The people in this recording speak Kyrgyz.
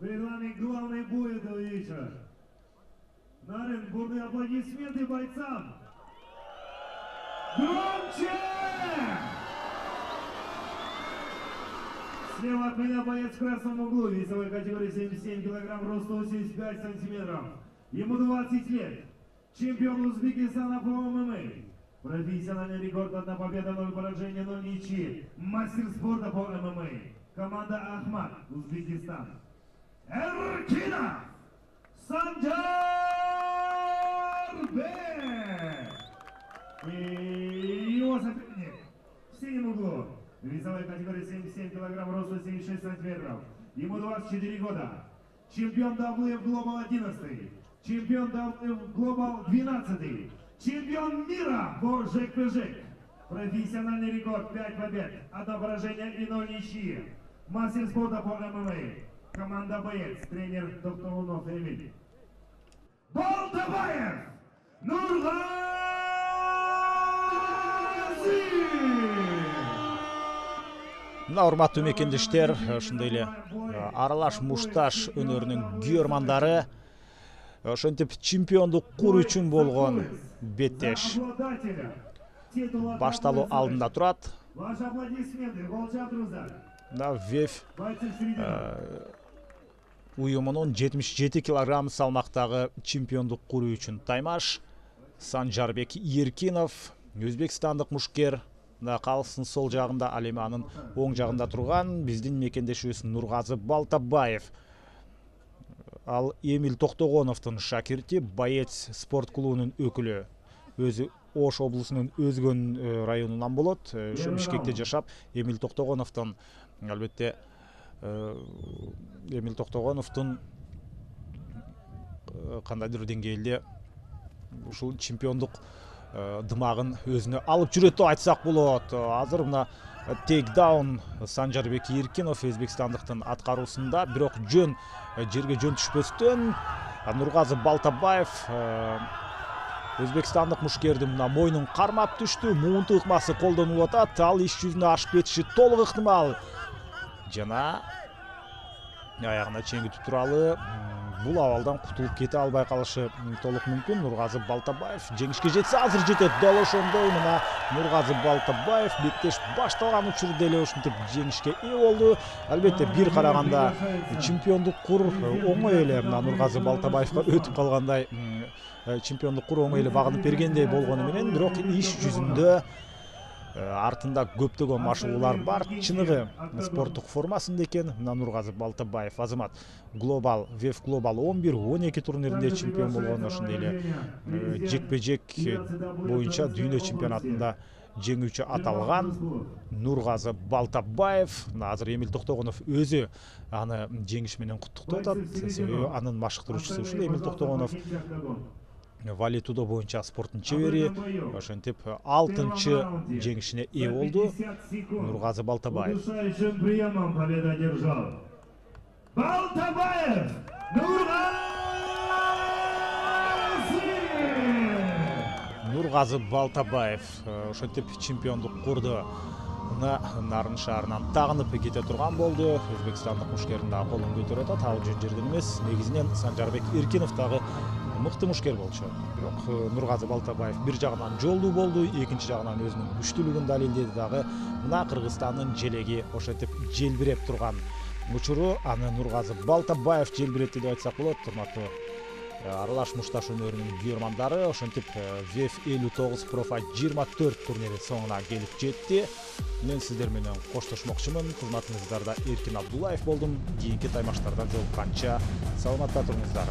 Перед вами главный бой этого вечера. Нарен, бурные аплодисменты бойцам. Громче! Слева от меня боец в красном углу, весовой категории 77 килограмм, рост 85 сантиметров. Ему 20 лет. Чемпион Узбекистана по ММА. Профессиональный рекорд: 1 победа, 0 поражения, 0 ничьи. Мастер спорта по ММА. Команда Ахмат, Узбекистан. Эркинов Санжарбек. И его соперник в синем углу. Весовой категории 77 килограмм, рост 76 сантиметров. Ему 24 года. Чемпион WF Global 11. Чемпион WF Global 12. Чемпион мира по жек-пэ-жек. Профессиональный рекорд: 5 побед, 1 поражение и 0 ничьи. Мастер спорта по ММА. Команда боец, тренер Токтоунов Эмиль. Балтабаев Нургази! Урматтуу мекендештер, ошондой эле аралаш мушташ өнөрүнүн күйөрмандары, ошентип чемпиондук куруу үчүн болгон беттеш башталуу алдында турат. Ваши аплодисменты, голча туруздар. ВЕФ уюмунун 77 килограмм салмактагы чемпиондук куруу үчүн таймаш Санжарбек Эркинов, өзбекстандык мушкер. Калыстын сол жагында, ал эми анын оң жагында турган биздин мекендешибиз Нургазы Балтабаев. Ал Эмиль Токтогоновдун шакирти, боец спорт клубунун өкүлү. Өзү Ош облусунун Өзгөн районунан болот. Бишкекте жашап, Эмиль Токтогоновдун, албетте, Эмиль Токтогоновдун кандайдыр деңгээлде ушул чемпиондук дымагын өзүнө алып жүрөт деп айтсак болот. Азыр мына тейкдаун Санжарбек Эркинов өзбекстандыктын аткаруусунда, бирок жерге жөн түшпөстөн Нургазы Балтабаев өзбекстандык мушкердин мына мойнун кармап түштү. Муунту ыкмасы колдонулуп атат. Ал иш жүзүнө ашып кетиши толук ыктымал. Жана аягына чеңгитип туралы бул абалдан кутулуп кете албай калышы толук мүмкүн. Нургазы Балтабаев жеңишке жетсе, азыр жетет. Дал ошондой мына Нургазы Балтабаев беттеш башталган учурда эле ушинтип жеңишке ээ болду. Албетте, бир караганда чемпиондук кур оңой эле мына Нургазы Балтабаевга өтүп калгандай, чемпиондук кур оңой эле багынып бергендей болгону менен, бирок иш жүзүндө артында көптөгөн машыгуулар бар. Чыныгы спорттук формасында экен. Мына Нургазы Балтабаев азамат ВЕФ Global 11-12 турниринде чемпион болгон, ошондой эле жекпе-жек боюнча дүйнө чемпионатында жеңүүчү аталган Нургазы Балтабаев. Азыр Эмиль Токтогонов өзү аны жеңиш менен куттуктап атат. Себеби анын машыктыруучусу ушул Эмиль Токтогонов. Валитудо боюнча спорттун чебери, ошентип 6-чы жеңишине ээ болду Нургазы Балтабаев. Приемом победу одержал Балтабаев Нургазы Балтабаев ошентип чемпиондук курду Нарын шаарынан тагынып кете турган болду. Өзбекстандык мушкердин дагы колун көтөрүп атат. Ал жөн жерден эмес. Негизинен Санжарбек Эркинов дагы мыкты мушкер болчу. Бирок Нургазы Балтабаев бир жагынан жолдуу болду, экинчи жагынан өзүнүн күчтүүлүгүн далилдеди дагы. Мына Кыргызстандын желеги ошентип желбиреп турган учуру аны Нургазы Балтабаев желбиретти деп айтсак болот. Урматтуу аралаш мушташ өнөрүнүн күйөрмандары, ошентип ВЕФ 59 Профа 24 турнири соңуна келип жетти. Мен сиздер менен коштошмокчумун. Кызматыңыздарда Эркин Абдуллаев болдум. Кийинки таймаштарда жолукканча саламатта туруңуздар.